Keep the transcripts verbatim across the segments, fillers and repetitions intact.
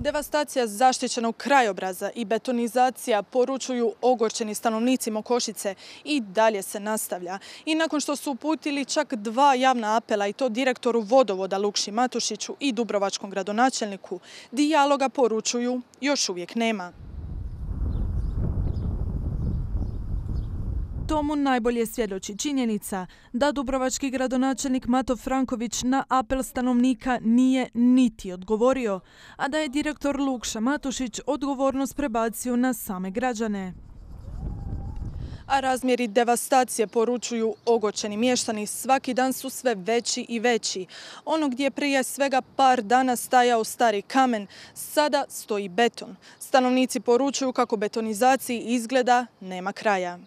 Devastacija zaštićenog krajobraza i betonizacija, poručuju ogorčeni stanovnici Mokošice, i dalje se nastavlja. I nakon što su uputili čak dva javna apela, i to direktoru vodovoda Lukši Matušiću i dubrovačkom gradonačelniku, dijaloga, poručuju, još uvijek nema. Tomu najbolje svjedoči činjenica da dubrovački gradonačelnik Mato Franković na apel stanovnika nije niti odgovorio, a da je direktor Lukša Matušić odgovornost prebacio na same građane. A razmjeri devastacije, poručuju ogorčeni mještani, svaki dan su sve veći i veći. Ono gdje je prije svega par dana stajao stari kamen, sada stoji beton. Stanovnici poručuju kako betonizaciji izgleda nema kraja.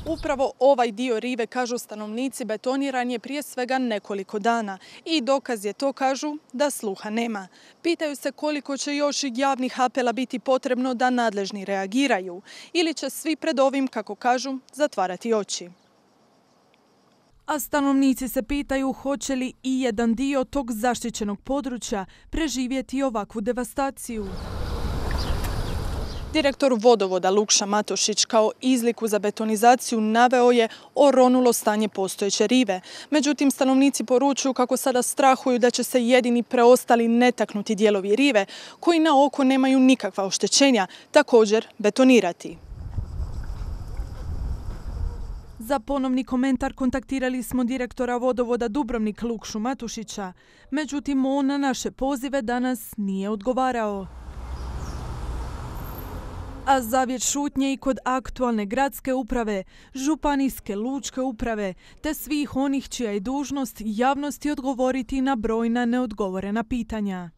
Upravo ovaj dio rive, kažu stanovnici, betoniran je prije svega nekoliko dana i dokaz je to, kažu, da sluha nema. Pitaju se koliko će još javnih apela biti potrebno da nadležni reagiraju ili će svi pred ovim, kako kažu, zatvarati oči. A stanovnici se pitaju hoće li i jedan dio tog zaštićenog područja preživjeti ovakvu devastaciju. Direktor vodovoda Lukša Matušić kao izliku za betonizaciju naveo je oronulo stanje postojeće rive. Međutim, stanovnici poručuju kako sada strahuju da će se jedini preostali netaknuti dijelovi rive, koji na oko nemaju nikakva oštećenja, također betonirati. Za ponovni komentar kontaktirali smo direktora vodovoda Dubrovnik Lukšu Matušića, međutim on na naše pozive danas nije odgovarao. A zavjet šutnje i kod aktualne gradske uprave, županijske lučke uprave, te svih onih čija je dužnost javnosti odgovoriti na brojna neodgovorena pitanja.